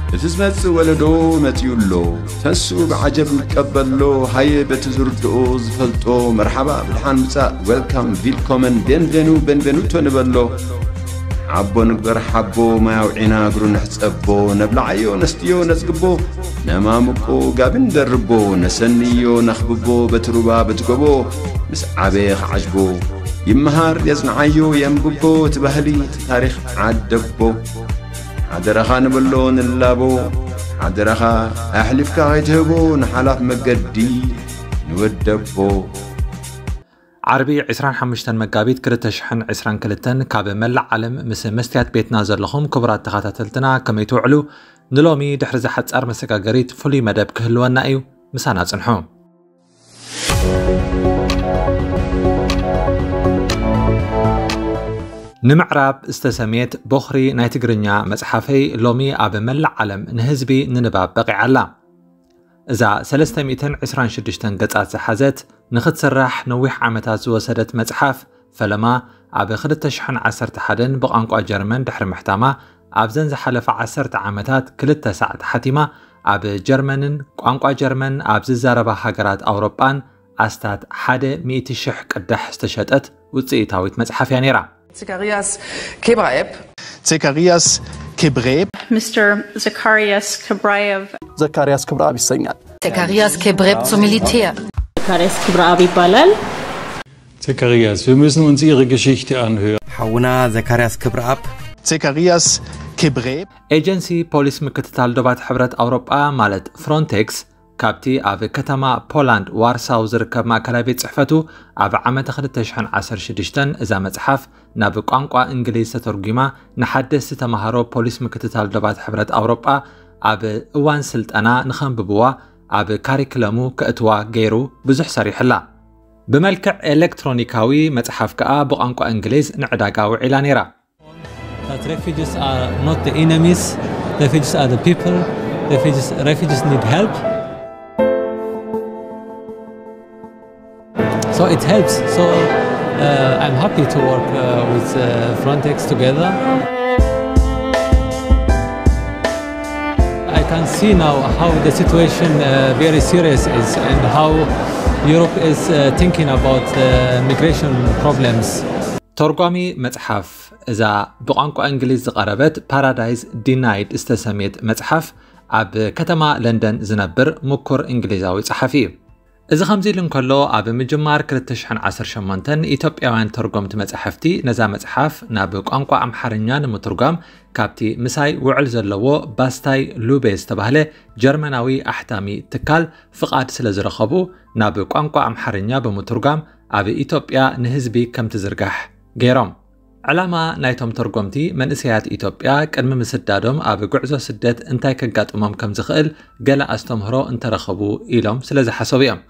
እቲ ዝመጽእ ወለዶ መጺኡ ኣሎ። ተንስኡ ብዓጀብ ንቀበሎ። ሃየ በቲ ዝርድኦ ዝፈልጦ መርሓባ ብድሓን ምጻእ፣ ዌልካም፣ ቪልኮመን፣ ቤንቬኑ፣ ቤንቬኑቶ ንበሎ። ሓቦ ንግበር ሓቦ፣ ማይ ኣውዒና እግሩ ንሕጸቦ። ነብልዓዮ ነስትዮ ነጽግቦ፣ ነማሙቆ ጋቢ ንደርቦ። ነሰንዮ ነኽብቦ በቲ ሩባ በቲ ጎቦ። ምስ ዓበየ ክዓጅቦ ይመሃር የጽንዓዮ የንብቦ። እቲ ባህሊ እቲ ታሪኽ ዓደቦ። ሓደራኻ ንበሎ ንላቦ። ሓደራኻ ኣሕሊፍካ ከይትህቦ ንሓላፍ መገዲ ንወደቦ። ዓርቢ ዕስራን ሓሙሽተን መጋቢት ክልተ ሽሕን ዕስራን ክልተን ካብ መላእ ዓለም ምስ መስትያት ቤትና ዘለኹም ክቡራት ተኸታተልትና ከመይ ትውዕሉ? ንሎሚ ድሕሪ እዛ ሓጻር መሰጋገሪት ፍሉይ መደብ ክህልወና እዩ። ምሳና ጽንሑ። ንምዕራብ ዝተሰምየት ቦኽሪ ናይ ትግርኛ መጽሓፈይ ሎሚ ኣብ መላእ ዓለም ንህዝቢ ንንባብ በቒዓ ኣላ። እዛ ሰለስተ ሚእትን ዕስራን ሽዱሽተን ገጻት ዝሓዘት ንኽትስራሕ ነዊሕ ዓመታት ዝወሰደት መጽሓፍ፣ ፈለማ ኣብ ክልተ ሽሕን ዓሰርተ ሓደን ብቋንቋ ጀርመን ድሕሪ ምሕታማ፣ ኣብዘን ዝሓለፋ ዓሰርተ ዓመታት ክልተ ሳዕ ተሓቲማ፣ ኣብ ጀርመንን ቋንቋ ጀርመን ኣብ ዝዛረባ ሃገራት ኣውሮጳን ኣስታት ሓደ ሚእቲ ሽሕ ቅዳሕ ዝተሸጠት ውጽኢታዊት መጽሓፍ እያ ነይራ። Zekarias Kebraeb. Zekarias Kebreb. Mister Zacharias Kibraev. ዘካርያስ ክብረኣብ ይሰኛል። Zekarias Kebreb zum Militär. Zekarias Kibraab ይባላል። Zekarias, wir müssen uns Ihre Geschichte anhören. ሓውና ዘካርያስ ክብረኣብ Zekarias Kebreb. ኤጀንሲ ፖሊስ ምክትታል ዶባት ሕብረት ኣውሮጳ ማለት ፍሮንቴክስ ካብቲ ኣብ ከተማ ፖላንድ ዋርሳው ዝርከብ ማእከላይ ቤት ጽሕፈቱ ኣብ ዓመተ ክልተ ሽሕን ዓሰርተ ሽዱሽተን እዛ መጽሓፍ ናብ ቋንቋ እንግሊዝ ተተርጒማ ንሓደስቲ ተማሃሮ ፖሊስ ምክትታል ዶባት ሕብረት ኣውሮጳ ኣብ እዋን ስልጠና ንኸንብብዋ ኣብ ካሪክለሙ ከእትዋ ገይሩ ብዙሕ ሰሪሕላ። ብመልክዕ ኤሌክትሮኒካዊ መጽሓፍ ከኣ ብቋንቋ እንግሊዝ ንዕዳጋ ውዒላ ነይራ። That refugees are not the enemies, refugees are the people, refugees, refugees need help. So it helps. So uh, I'm happy to work uh, with uh, Frontex together. I can see now how the situation uh, very serious is and how Europe is uh, thinking about uh, migration problems. ተርጓሚ መጽሓፍ እዛ ብቋንቋ እንግሊዝ ዝቐረበት ፓራዳይዝ ዲናይድ ዝተሰምየት መጽሓፍ ኣብ ከተማ ለንደን ዝነብር ምኩር እንግሊዛዊ ጸሓፊ እዩ። እዚ ከምዚ ኢሉ እንከሎ ኣብ ምጅማር ክልተ ሽሕን ዓሰርተ ሸሞንተን ኢትዮጵያውያን ተርጎምቲ መጻሕፍቲ ነዛ መጽሓፍ ናብ ቋንቋ ኣምሓርኛ ንምትርጓም ካብቲ ምሳይ ውዕል ዘለዎ ባስታይ ሉቤ ዝተባህለ ጀርመናዊ ኣሕታሚ ትካል ፍቓድ ስለ ዝረኸቡ ናብ ቋንቋ ኣምሓርኛ ብምትርጓም ኣብ ኢትዮጵያ ንህዝቢ ከም ትዝርጋሕ ገይሮም። ዕላማ ናይቶም ተርጎምቲ መንእሰያት ኢትዮጵያ ቅድሚ ምስዳዶም ኣብ ጉዕዞ ስደት እንታይ ከጋጥሞም ከም ዝኽእል ገለ ኣስተምህሮ እንተረኸቡ ኢሎም ስለ ዝሓሰቡ እዮም።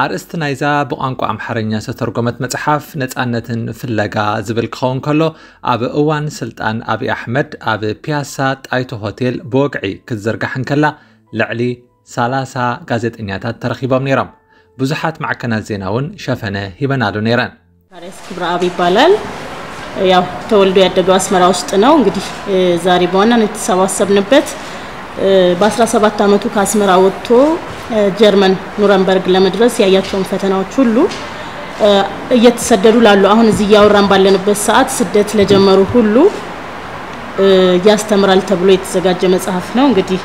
ኣርእስቲ ናይዛ ብቋንቋ ኣምሓርኛ ዝተተርጎመት መጽሓፍ ነጻነትን ፍለጋ ዝብል ክኸውን ከሎ ኣብ እዋን ስልጣን ኣብይ ኣሕመድ ኣብ ፒያሳ ጣይቱ ሆቴል ብወግዒ ክትዝርጋሕ እንከላ ልዕሊ ሰላሳ ጋዜጠኛታት ተረኺቦም ነይሮም። ብዙሓት ማዕከናት ዜና እውን ሸፈነ ሂበናሉ ነይረን። ዘካርያስ ክብረኣብ ይባላል። ያው ተወልዶ ያደገው አስመራ ውስጥ ነው። እንግዲህ ዛሬ በዋናነት የተሰባሰብንበት በ17 ዓመቱ ከአስመራ ወጥቶ ጀርመን ኑረንበርግ ለመድረስ ያያቸውን ፈተናዎች ሁሉ እየተሰደዱ ላሉ አሁን እዚህ እያወራን ባለንበት ሰዓት ስደት ለጀመሩ ሁሉ ያስተምራል ተብሎ የተዘጋጀ መጽሐፍ ነው። እንግዲህ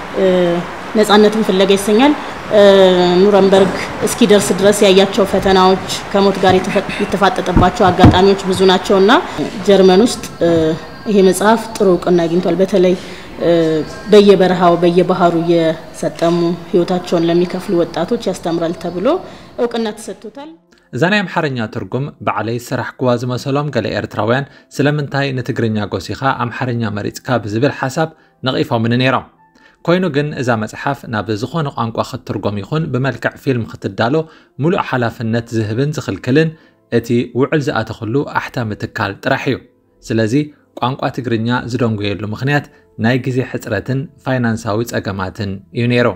ነጻነትን ፍለጋ ይሰኛል። ኑረንበርግ እስኪደርስ ድረስ ያያቸው ፈተናዎች፣ ከሞት ጋር የተፋጠጠባቸው አጋጣሚዎች ብዙ ናቸውና ጀርመን ውስጥ ይሄ መጽሐፍ ጥሩ እውቅና አግኝቷል። በተለይ በየበረሃው በየባህሩ እየሰጠሙ ህይወታቸውን ለሚከፍሉ ወጣቶች ያስተምራል ተብሎ እውቅና ተሰጥቶታል። እዛ ናይ ኣምሓርኛ ትርጉም ባዕለይ ዝሰራሕክዋ ዝመሰሎም ገለ ኤርትራውያን ስለምንታይ ንትግርኛ ጎሲኻ ኣምሓርኛ መሪጽካ ብዝብል ሓሳብ ነቒፎምኒ ነይሮም። ኮይኑ ግን እዛ መጽሓፍ ናብ ዝኾነ ቋንቋ ክትትርጎም ይኹን ብመልክዕ ፊልም ክትዳሎ ሙሉእ ሓላፍነት ዝህብን ዝኽልክልን እቲ ውዕል ዝኣተኽሉ ኣሕታሚ ትካል ጥራሕ እዩ። ስለዚ ቋንቋ ትግርኛ ዝደንጉየሉ ምኽንያት ናይ ግዜ ሕጽረትን ፋይናንሳዊ ጸገማትን እዩ ነይሩ።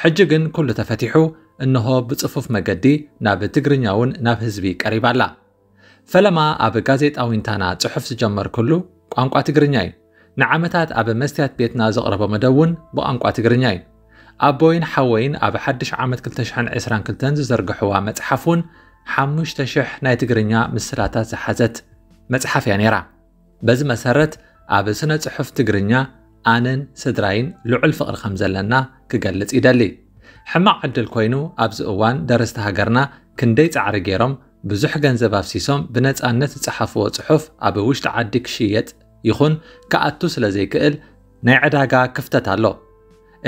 ሕጂ ግን ኩሉ ተፈቲሑ እንሆ ብጽፉፍ መገዲ ናብ ትግርኛ እውን ናብ ህዝቢ ቀሪባ ኣላ። ፈለማ ኣብ ጋዜጣ ዊንታና ጽሑፍ ዝጀመርኩሉ ቋንቋ ትግርኛ እዩ። ንዓመታት ኣብ መስትያት ቤትና ዘቕረቦ መደብ እውን ብቋንቋ ትግርኛ እዩ። ኣቦይን ሓወይን ኣብ ሓድሽ ዓመት ክልተ ሽሕን ዕስራን ክልተን ዝዘርግሕዋ መጽሓፍ እውን ሓሙሽተ ሽሕ ናይ ትግርኛ ምስላታት ዝሓዘት መጽሓፍ እያ ነይራ። በዚ መሰረት ኣብ ስነ ጽሑፍ ትግርኛ ኣነን ስድራይን ልዑል ፍቕሪ ከም ዘለና ክገልጽ ይደሊ። ሕማቕ ዕድል ኮይኑ ኣብዚ እዋን ደረስቲ ሃገርና ክንደይ ጻዕሪ ገይሮም ብዙሕ ገንዘብ ኣፍሲሶም ብነጻነት ዝጸሓፍዎ ጽሑፍ ኣብ ውሽጢ ዓዲ ክሽየጥ ይኹን ክኣቱ ስለ ዘይክእል ናይ ዕዳጋ ክፍተት ኣሎ።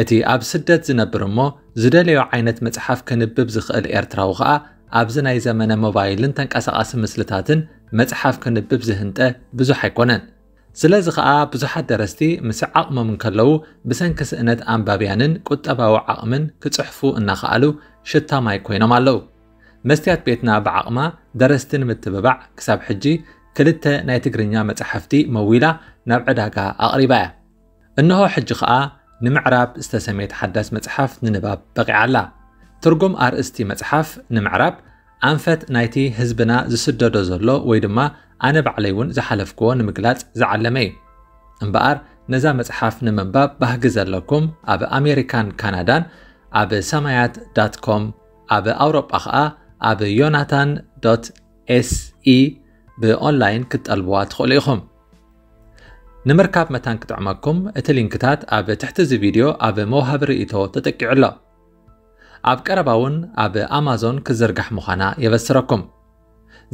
እቲ ኣብ ስደት ዝነብር እሞ ዝደለዮ ዓይነት መጽሓፍ ክንብብ ዝኽእል ኤርትራዊ ኸኣ ኣብዚ ናይ ዘመነ ሞባይልን ተንቀሳቓሲ ምስልታትን መጽሓፍ ክንብብ ዝህንጠ ብዙሕ ኣይኮነን። ስለዚ ኸኣ ብዙሓት ደረስቲ ምስ ዓቕሞም እንከለዉ ብሰንኪ ስእነት ኣንባብያንን ቁጠባዊ ዓቕምን ክጽሕፉ እናኸኣሉ ሽታ ማይ ኮይኖም ኣለዉ። መስትያት ቤትና ብዓቕማ ደረስቲ ንምትብባዕ ክሳብ ሕጂ ክልተ ናይ ትግርኛ መጻሕፍቲ መዊላ ናብ ዕዳጋ ኣቕሪባ እያ። እንሆ ሕጂ ኸኣ ንምዕራብ ዝተሰምየት ሓዳስ መጽሓፍ ንንባብ በቒዓ ኣላ። ትርጉም ኣርእስቲ መጽሓፍ ንምዕራብ ኣንፈት ናይቲ ህዝብና ዝስደዶ ዘሎ ወይ ድማ ኣነ ባዕለይ እውን ዝሓለፍክዎ ንምግላጽ ዝዓለመ እዩ። እምበኣር ነዛ መጽሓፍ ንምንባብ ባህጊ ዘለኩም ኣብ ኣሜሪካን ካናዳን ኣብ ሰማያት ዳት ኮም ኣብ ኣውሮጳ ኸኣ ኣብ ዮናታን ዶት ኤስኢ ብኦንላይን ክትጠልብዋ ትኽእሉ ኢኹም። ንምርካብ መታን ክጥዕመኩም እቲ ሊንክታት ኣብ ትሕቲ እዚ ቪድዮ ኣብ መውሃቢ ርእይቶ ተጠቂዑ ኣሎ። ኣብ ቀረባ እውን ኣብ ኣማዞን ክዝርጋሕ ምዃና የበስረኩም።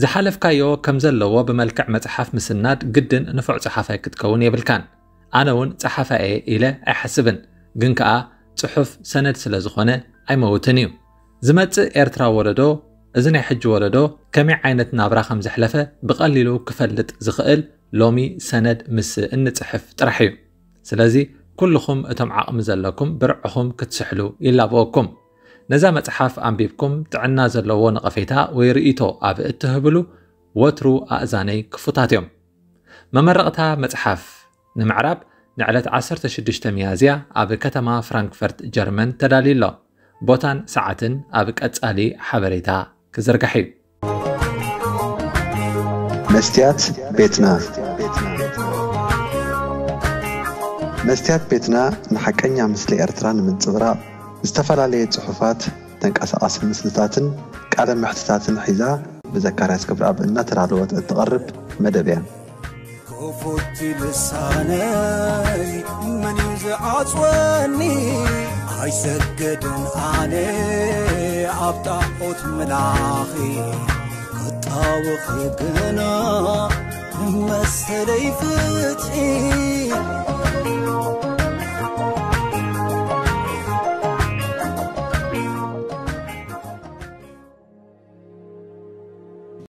ዝሓለፍካዮ ከም ዘለዎ ብመልክዕ መጽሓፍ ምስናድ ግድን ንፉዕ ጸሓፋይ ክትከውን የብልካን። ኣነ እውን ጸሓፋይ እየ ኢለ ኣይሓስብን፣ ግን ከኣ ጽሑፍ ሰነድ ስለ ዝኾነ ኣይመውትን እዩ። ዝመጽእ ኤርትራ ወለዶ፣ እዚ ናይ ሕጂ ወለዶ ከመይ ዓይነት ናብራ ከም ዘሕለፈ ብቐሊሉ ክፈልጥ ዝኽእል ሎሚ ሰነድ ምስ እንጽሕፍ ጥራሕ እዩ። ስለዚ ኩልኹም እቶም ዓቕሚ ዘለኩም ብርዕኹም ክትስሕሉ ይላበወኩም። ነዛ መጽሓፍ ኣንቢብኩም ጥዕና ዘለዎ ነቐፌታ ወይ ርእይቶ ኣብ እትህብሉ ወትሩ ኣእዛነይ ክፉታት እዮም። መመረቕታ መጽሓፍ ንምዕራብ ንዕለት ዓሰርተ ሽዱሽተ ሚያዝያ ኣብ ከተማ ፍራንክፈርት ጀርመን ተዳልዩ ኣሎ። ቦታን ሰዓትን ኣብ ቀጻሊ ሓበሬታ ክዝርጋሕ እዩ። መስትያት ቤትና መስትያት ቤትና ንሓቀኛ ምስሊ ኤርትራ ንምንጽብራቕ ዝተፈላለየ ጽሑፋት፣ ተንቀሳቓሲ ምስልታትን ቃለ መሕትታትን ሒዛ ብዘካርያስ ክብረኣብ እናተዳለወት እትቐርብ መደብ እያ። ክፉት ልሳነይ መን እዩ ዝዓጽወኒ? ኣይሰግድን ኣነ ኣብ ጣዖት ምላኺ ክጣወኺ ግና መሰለይ ፍትሒ